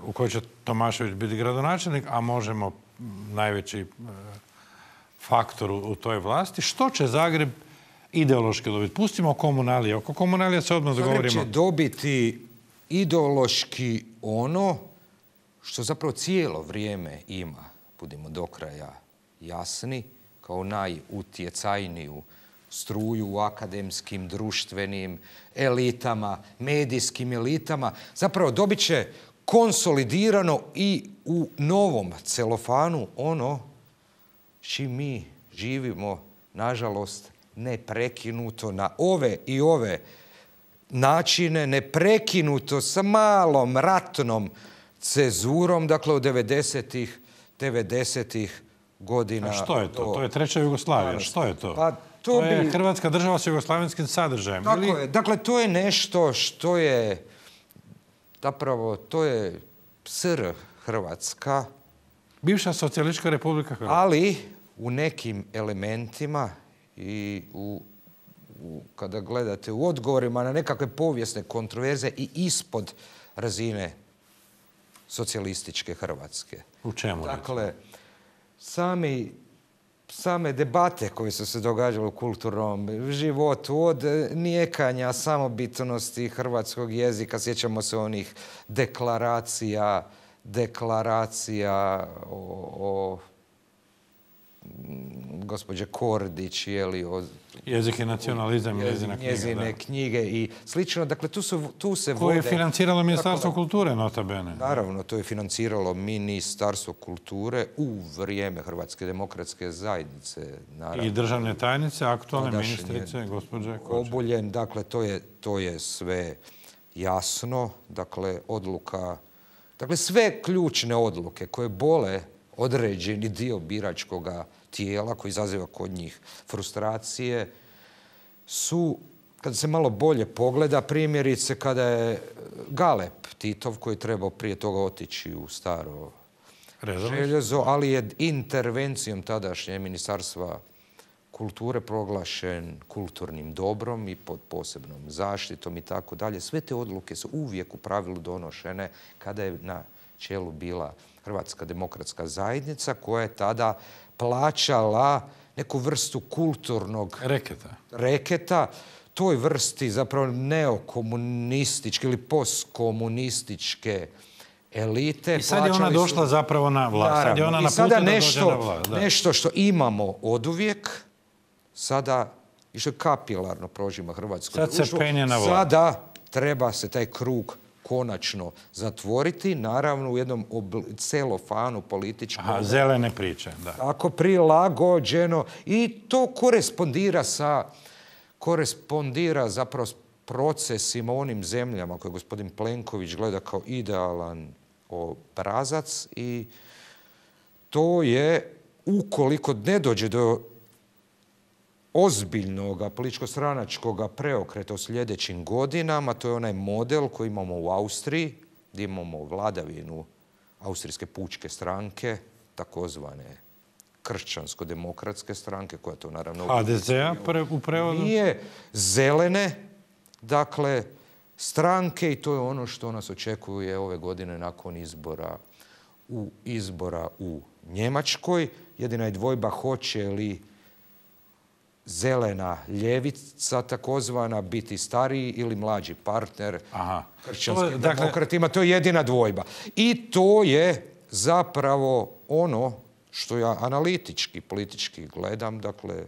u kojoj će Tomašević biti gradonačelnik, a možemo najveći faktor u toj vlasti. Što će Zagreb ideološki dobiti? Pustimo komunalije. Oko komunalija se odmah dogovorimo. Zagreb će dobiti ideološki ono što zapravo cijelo vrijeme ima, budimo do kraja jasni, kao najutjecajniju struju u akademskim, društvenim elitama, medijskim elitama. Zapravo dobit će konsolidirano i u novom celofanu ono s čim mi živimo, nažalost, neprekinuto na ove i ove načine, neprekinuto sa malom ratnom cezurom, dakle od devedesetih godina. A što je to? To je treća Jugoslavija. Što je to? Pa, to, to je bi... Hrvatska država s jugoslavenskim sadržajem. Tako ili... je. Dakle, to je nešto što je zapravo, to je S R Hrvatska. Bivša socijalistička republika Hrvatska. Ali u nekim elementima i u, u, kada gledate u odgovorima na nekakve povijesne kontroverze i ispod razine socijalističke Hrvatske. U čemu? Dakle, sami, same debate koje su se događale u kulturnom životu, od nijekanja samobitnosti hrvatskog jezika, sjećamo se onih deklaracija, deklaracija o, o gospođe Kordić, jeli, o jezik i nacionalizam, njezine, njezine knjige i slično. Dakle, tu, su, tu se vode... Koje je financiralo Ministarstvo kulture, nota bene? Naravno, to je financiralo Ministarstvo kulture u vrijeme Hrvatske demokratske zajednice. Naravno. I državne tajnice, aktualne ministrice, gospođe Kočar. Obuljen, dakle, to je, to je sve jasno. Dakle, odluka... Dakle, sve ključne odluke koje bole određeni dio biračkog tijela koji izaziva kod njih frustracije su, kada se malo bolje pogleda, primjerice kada je Galeb Titov, koji je trebao prije toga otići u staro željezo, ali je intervencijom tadašnje Ministarstva kulture proglašen kulturnim dobrom i pod posebnom zaštitom i tako dalje. Sve te odluke su uvijek u pravilu donošene kada je na čelu bila Hrvatska demokratska zajednica, koja je tada plaćala neku vrstu kulturnog reketa. reketa toj vrsti zapravo neokomunističke ili postkomunističke elite. I sad je ona došla su... zapravo na vlast. Sad je ona I sada nešto, na vlast, nešto što imamo oduvijek, sada i što je kapilarno prožima Hrvatsko sad društvo, se penje na vlast. Sada treba se taj krug konačno zatvoriti, naravno u jednom celofanu političkom. Aha, zelene priče, da. Tako prilagođeno. I to korespondira sa, korespondira zapravo s procesima u onim zemljama koje gospodin Plenković gleda kao idealan obrazac i to je, ukoliko ne dođe do ozbiljnog političko-stranačkog preokreta u sljedećim godinama, to je onaj model koji imamo u Austriji, gdje imamo vladavinu Austrijske pučke stranke, takozvane kršćansko-demokratske stranke, koja to naravno... H D Z-a u prevodu? Nije, zelene, dakle, stranke, i to je ono što nas očekuje ove godine nakon izbora u, izbora u Njemačkoj. Jedina je dvojba hoće li zelena ljevica, takozvana, biti stariji ili mlađi partner kršćanskim demokratima. To je jedina dvojba. I to je zapravo ono što ja analitički, politički gledam. Dakle,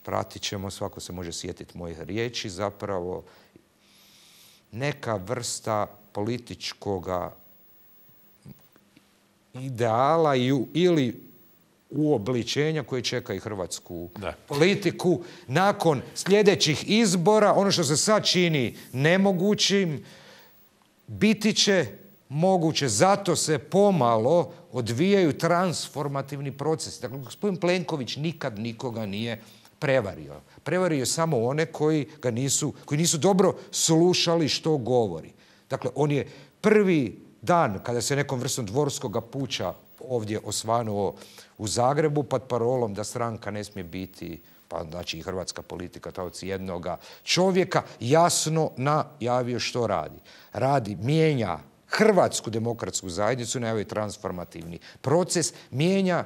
pratit ćemo, svako se može sjetiti mojih riječi, zapravo neka vrsta političkog ideala ili uobličenja koje čeka i hrvatsku da. politiku nakon sljedećih izbora. Ono što se sad čini nemogućim, biti će moguće. Zato se pomalo odvijaju transformativni procesi. Dakle, gospodin Plenković nikad nikoga nije prevario. Prevario je samo one koji ga nisu, koji nisu dobro slušali što govori. Dakle, on je prvi dan kada se nekom vrstom dvorskog puča ovdje osvanuo u Zagrebu pod parolom da stranka ne smije biti, pa znači i hrvatska politika, taoci jednoga čovjeka, jasno najavio što radi. Radi, mijenja Hrvatsku demokratsku zajednicu, najavio je transformativni proces, mijenja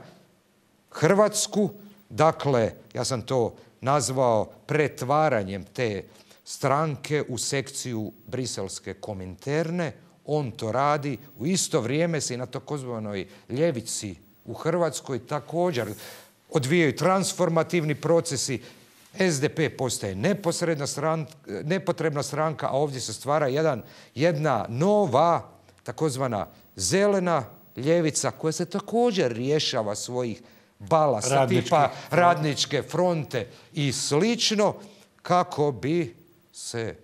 Hrvatsku, dakle, ja sam to nazvao pretvaranjem te stranke u sekciju briselske kominterne. On to radi, u isto vrijeme se i na takozvanoj ljevici u Hrvatskoj također odvijaju transformativni procesi. S D P postaje neposredna stranka, nepotrebna stranka, a ovdje se stvara jedan, jedna nova takozvana zelena ljevica koja se također rješava svojih balasa Radnički. tipa radničke fronte i slično, kako bi se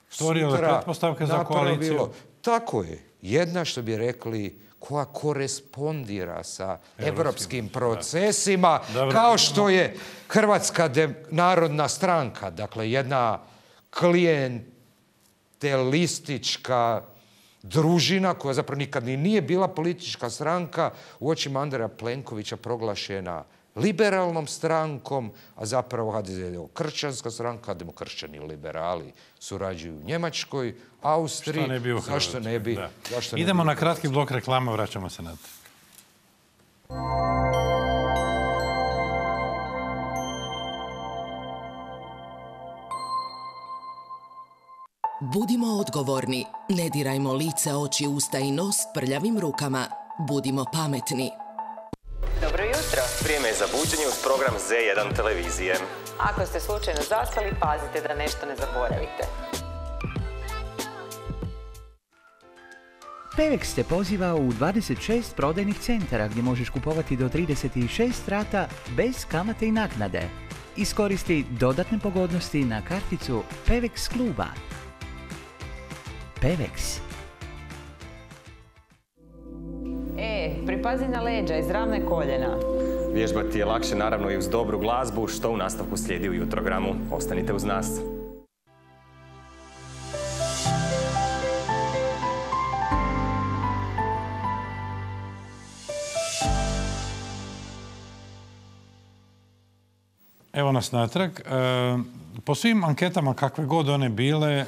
stvorile pretpostavke za koaliciju. Tako je. Jedna, što bi rekli, koja korespondira sa evropskim procesima, da. kao što je Hrvatska narodna stranka, dakle jedna klijentelistička družina koja zapravo nikad ni nije bila politička stranka, u očima Andreja Plenkovića proglašena liberalnom strankom, a zapravo H D Z je kršćanska stranka, demokršćani liberali surađuju u Njemačkoj, Austriji. Što ne bi u Hrvatskoj. Zašto ne bi? Zašto ne Idemo bi na kratki blok reklama, vraćamo se na to. Budimo odgovorni, ne dirajmo lice, oči, usta i nos prljavim rukama. Budimo pametni. Dobro jutro. Vrijeme je za buđenje uz program Z jedan televizije. Ako ste slučajno zaspali, pazite da nešto ne zaboravite. Pevex te poziva u dvadeset šest prodajnih centara gdje možeš kupovati do trideset šest rata bez kamate i naknade. Iskoristi dodatne pogodnosti na karticu Pevex kluba. Pevex. E, pripazi na leđa, izravne koljena. Vježbati je lakše naravno i uz dobru glazbu, što u nastavku slijedi u jutrogramu. Ostanite uz nas. Evo nas natrag. Po svim anketama, kakve god one bile,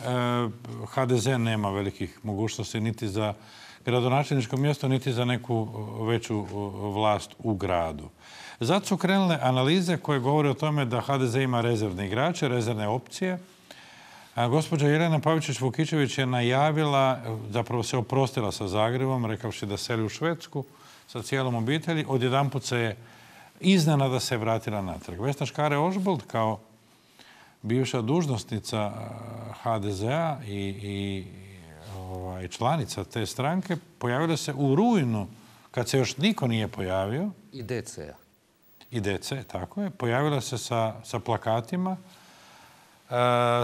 H D Z nema velikih mogućnosti niti za gradonačelničko mjesto, niti za neku veću vlast u gradu. Zato su krenule analize koje govore o tome da H D Z ima rezervne igrače, rezervne opcije. A gospođa Jelena Pavičić-Vukičević je najavila, zapravo se oprostila sa Zagrebom, rekavši da seli u Švedsku sa cijelom obitelji. Odjedanput se je iznenada se vratila natrag. Vesna Škare-Ožbolt kao bivša dužnosnica H D Z-a i, i ovaj, članica te stranke pojavila se u rujnu, kad se još niko nije pojavio. I D C-a. I D C, tako je. Pojavila se sa, sa plakatima. E,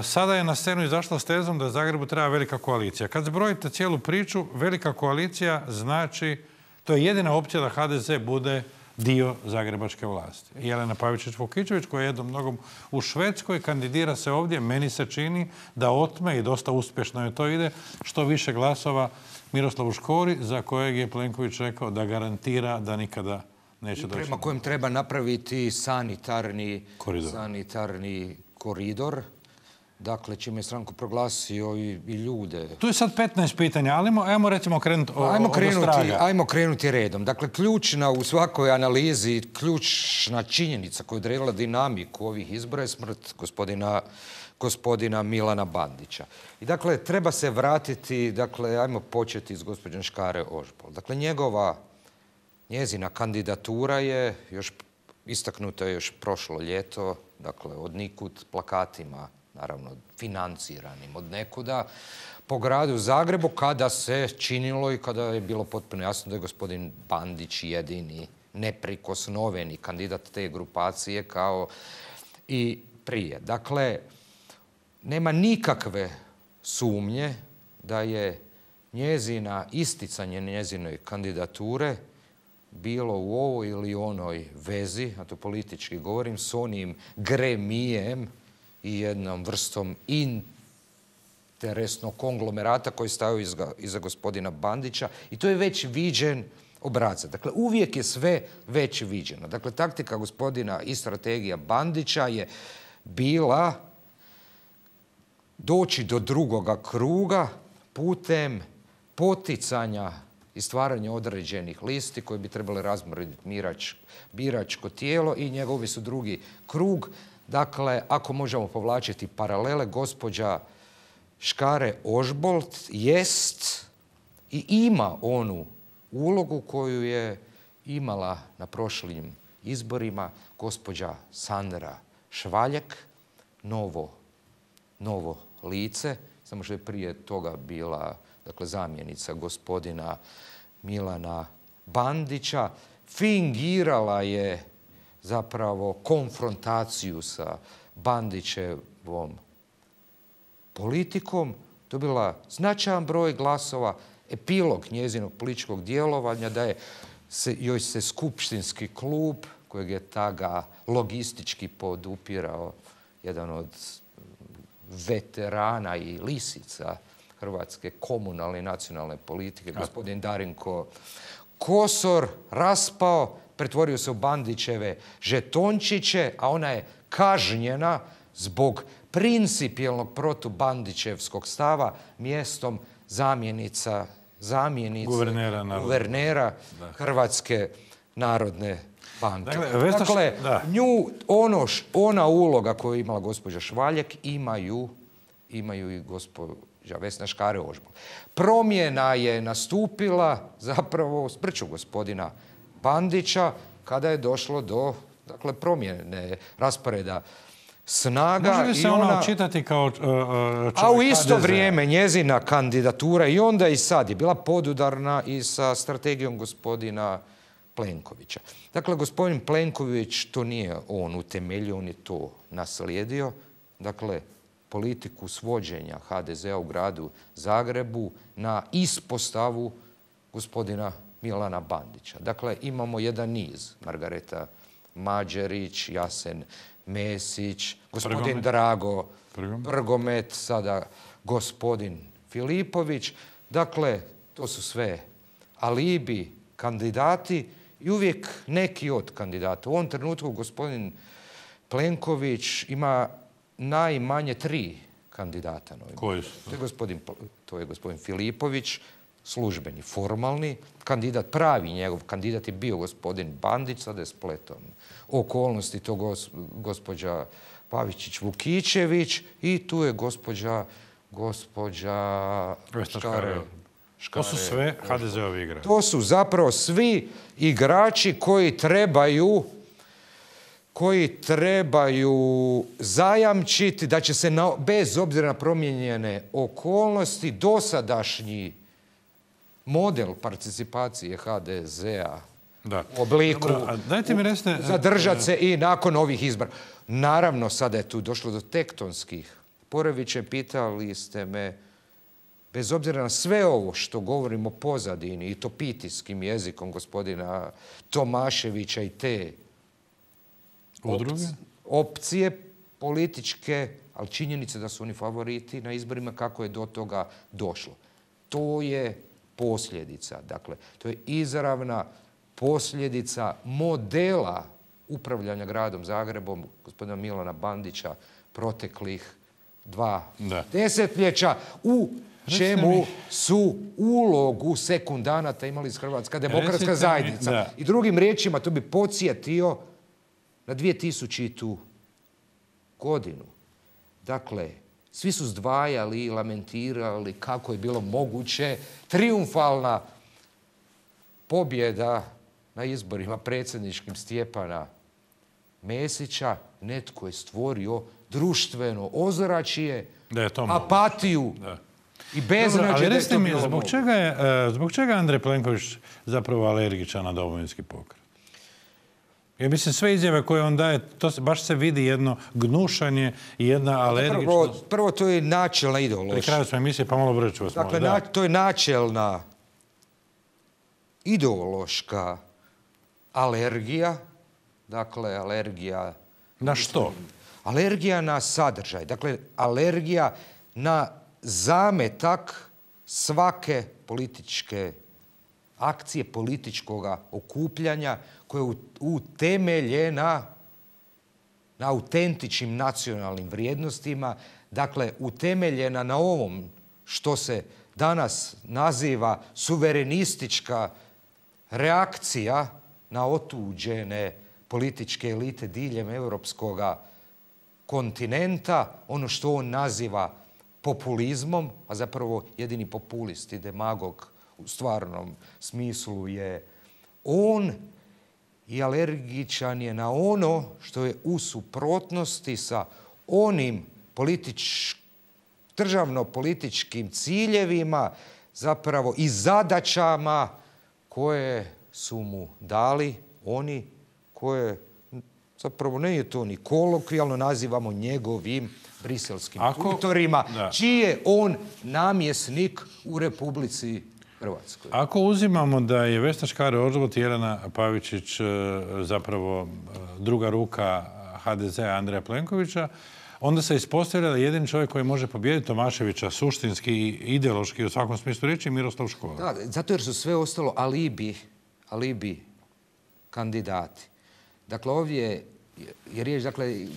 sada je na scenu izašla s tezom da Zagrebu treba velika koalicija. Kad zbrojite cijelu priču, velika koalicija znači, to je jedina opcija da H D Z bude dio zagrebačke vlasti. Jelena Pavičić-Vukičević, koja je jednom mnogom u Švedskoj, kandidira se ovdje. Meni se čini da otme, i dosta uspješno je to ide, što više glasova Miroslavu Škori, za kojeg je Plenković rekao da garantira da nikada neće doći. Prema kojem treba napraviti sanitarni koridor. Sanitarni koridor. Dakle, čime je stranku proglasio i, i ljude. Tu je sad petnaest pitanja, ali ajmo recimo krenuti ajmo krenuti, ajmo krenuti redom. Dakle, ključna u svakoj analizi, ključna činjenica koja je odredila dinamiku ovih izbora je smrt gospodina, gospodina Milana Bandića. I dakle, treba se vratiti, dakle, ajmo početi s gospođom Škare-Ožbolt. Dakle, njegova, njezina kandidatura je još istaknuta je još prošlo ljeto, dakle, od nikud plakatima, naravno financiranim od nekuda, po gradu Zagrebu, kada se činilo i kada je bilo potpuno jasno da je gospodin Bandić jedini neprikosnoveni kandidat te grupacije kao i prije. Dakle, nema nikakve sumnje da je njezina isticanje njezine kandidature bilo u ovoj ili onoj vezi, a to politički govorim, s onim gremijem i jednom vrstom interesnog konglomerata koji stavio iza, iza gospodina Bandića. I to je već viđen obrasca. Dakle, uvijek je sve već viđeno. Dakle, taktika gospodina i strategija Bandića je bila doći do drugoga kruga putem poticanja i stvaranja određenih listi koje bi trebali razmrditi biračko tijelo i njegovi su drugi krug. Dakle, ako možemo povlačiti paralele, gospođa Škare Ožbolt jest i ima onu ulogu koju je imala na prošlim izborima gospođa Sandra Švaljek, novo, novo lice, samo što je prije toga bila dakle, zamjenica gospodina Milana Bandića, fingirala je zapravo konfrontaciju sa Bandićevom politikom, dobila značajan broj glasova, epilog njezinog političkog djelovanja da je se, joj se skupštinski klub, kojeg je tada logistički podupirao jedan od veterana i lisica hrvatske komunalne i nacionalne politike, gospodin Darinko Kosor, raspao, pretvorio se u Bandićeve žetončiće, a ona je kažnjena zbog principijelnog protubandićevskog stava mjestom zamjenica, zamjenice guvernera, guvernera Hrvatske narodne banke. Dakle, Vesna, dakle da. nju, ono, ona uloga koju je imala gospođa Švaljek imaju, imaju i gospođa Vesna Škare Ožbolt. Promjena je nastupila zapravo smrću gospodina Bandića kada je došlo do dakle, promjene rasporeda snaga. Može li se i ona ona očitati kao uh, čovjek A u isto H D Z-a? vrijeme njezina kandidatura i onda i sad je bila podudarna i sa strategijom gospodina Plenkovića. Dakle, gospodin Plenković, to nije on utemeljio, on je to naslijedio. Dakle, politiku svođenja H D Z-a u gradu Zagrebu na ispostavu gospodina Milana Bandića. Dakle, imamo jedan niz. Margareta Mađerić, Jasen Mesić, gospodin Prgomet. Drago Prgomet. Prgomet, sada gospodin Filipović. Dakle, to su sve alibi kandidati i uvijek neki od kandidata. U ovom trenutku gospodin Plenković ima najmanje tri kandidata. Koji su? To je gospodin, to je gospodin Filipović, službeni, formalni kandidat, pravi njegov kandidat je bio gospodin Bandić, sada je spletom okolnosti to gos, gospođa Pavičić-Vukičević i tu je gospođa gospođa Škare. To su sve H D Z-ovi igrači. To su zapravo svi igrači koji trebaju koji trebaju zajamčiti da će se na, bez obzira na promijenjene okolnosti dosadašnji model participacije H D Z-a Da. u obliku Dobro, a dajte mi recite, zadržati se i nakon ovih izbora. Naravno, sada je tu došlo do tektonskih poremećaja. Pitali ste me, bez obzira na sve ovo što govorimo pozadini i to pitijskim jezikom gospodina Tomaševića i te udruge? opcije političke, ali činjenice da su oni favoriti na izborima, kako je do toga došlo. To je posljedica, dakle, to je izravna posljedica modela upravljanja gradom Zagrebom gospodina Milana Bandića proteklih dva Da. desetljeća, u Recite čemu mi- su ulogu sekundanata imali iz Hrvatska demokratska Recite mi, zajednica. da. I drugim riječima, to bi podsjetio na dvjetisućitu godinu. Dakle, svi su zdvajali i lamentirali kako je bilo moguće triumfalna pobjeda na izborima predsjedničkim Stjepana Mesića. Netko je stvorio društveno ozračje, Da je to moguće. apatiju Da. i Dobro, beznađe ali da je recite to mi, bilo zbog moguće. čega je, e, zbog čega je Andrej Plenković zapravo alergičan na Domovinski pokret? Ja mislim, sve izjave koje on daje, to se, baš se vidi jedno gnušanje i jedna Prvo, alergičnost. prvo to je načelna Pri ideološka. kraju smo emisije, pa malo brže ću vas Dakle, molim. na, Da. to je načelna ideološka alergija. Dakle, alergija... Na što? Alergija na sadržaj. Dakle, alergija na zametak svake političke akcije političkog okupljanja koja je utemeljena na autentičnim nacionalnim vrijednostima, dakle utemeljena na ovom što se danas naziva suverenistička reakcija na otuđene političke elite diljem europskog kontinenta, ono što on naziva populizmom, a zapravo jedini populist i demagog u stvarnom smislu je on, i alergičan je na ono što je u suprotnosti sa onim politič, državno-političkim ciljevima zapravo i zadaćama koje su mu dali oni koje zapravo ne je to ni kolokvijalno nazivamo njegovim briselskim tutorima, čiji je on namjesnik u Republici Hrvatskoj. Ako uzimamo da je Vesna Škare-Ožbolt i Jelena Pavičić zapravo druga ruka ha de zea Andreja Plenkovića, onda se ispostavlja da jedini čovjek koji može pobijediti Tomaševića suštinski i ideološki u svakom smislu riječi je Miroslav Škoro. Da, zato jer su sve ostalo alibi, alibi kandidati. Dakle, ovdje je riječ, dakle,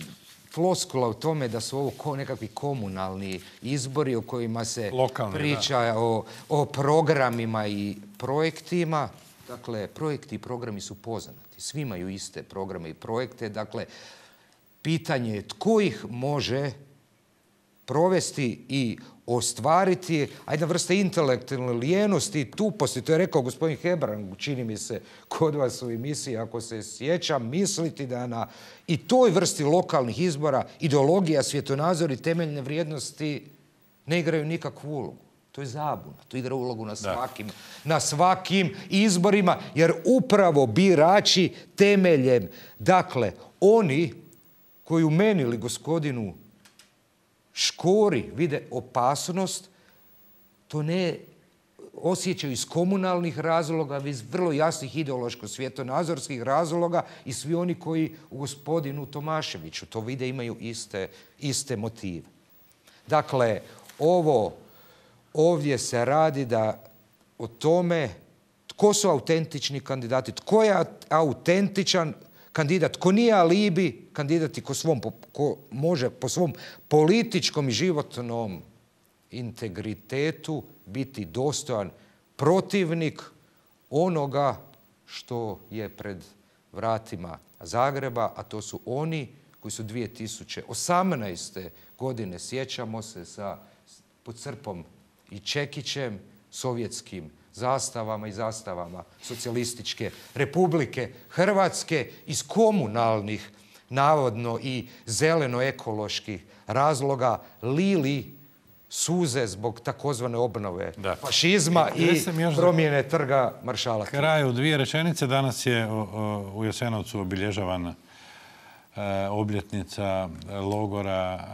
floskula u tome da su ovo ko nekakvi komunalni izbori u kojima se lokalni, priča o, o programima i projektima. Dakle, projekti i programi su poznati. Svi imaju iste programe i projekte. Dakle, pitanje je tko ih može provesti i ostvariti, a jedna vrsta intelektualne lijenosti i tuposti, to je rekao gospodin Hebrang, čini mi se kod vas u emisiji, ako se sjećam, misliti da na i toj vrsti lokalnih izbora ideologija, svjetonazor i temeljne vrijednosti ne igraju nikakvu ulogu. To je zabuna. To igra ulogu na svakim, na svakim izborima, jer upravo birači temeljem, dakle, oni koji u meni ili gospodinu Škori vide opasnost, to ne osjećaju iz komunalnih razloga, iz vrlo jasnih ideološko-svjetonazorskih razloga i svi oni koji u gospodinu Tomaševiću to vide imaju iste, iste motive. Dakle, ovo ovdje se radi da o tome tko su autentični kandidati, tko je autentičan kandidat, ko nije alibi kandidat i ko, svom, ko može po svom političkom i životnom integritetu biti dostojan protivnik onoga što je pred vratima Zagreba, a to su oni koji su dvije tisuće osamnaeste. godine, sjećamo se, sa, pod Crpom i Čekićem, sovjetskim zastavama i zastavama Socijalističke Republike Hrvatske iz komunalnih, navodno i zeleno-ekoloških razloga lili suze zbog takozvane obnove da. fašizma i, i promjene trga maršala. Kraju dvije rečenice. Danas je u Jasenovcu obilježavana obljetnica logora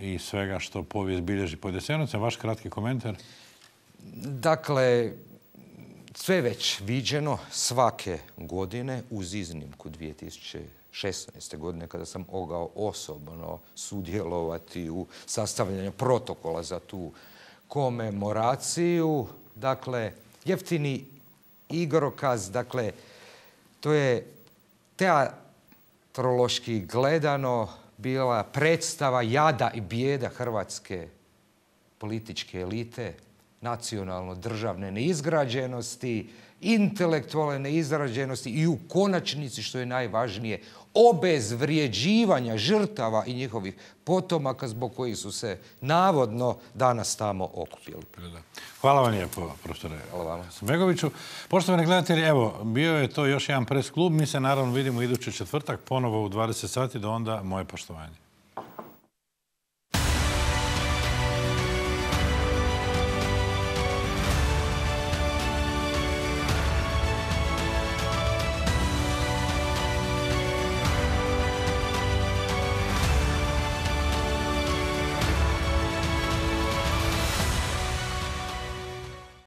i svega što povijest bilježi pod Jasenovcem. Vaš kratki komentar? Dakle, sve već viđeno svake godine, uz iznimku dvije tisuće šesnaeste. godine, kada sam mogao osobno sudjelovati u sastavljanju protokola za tu komemoraciju. Dakle, jeftini igrokaz, dakle, to je teatrološki gledano bila predstava jada i bijeda hrvatske političke elite, nacionalno-državne neizgrađenosti, intelektualne neizgrađenosti i u konačnici, što je najvažnije, obezvrijeđivanja žrtava i njihovih potomaka zbog kojih su se navodno danas tamo okupili. Hvala vam lijepo, profesore Begoviću. Poštovani gledatelji, evo, bio je to još jedan pres klub. Mi se naravno vidimo idući četvrtak, ponovo u dvadeset sati, do onda moje poštovanje.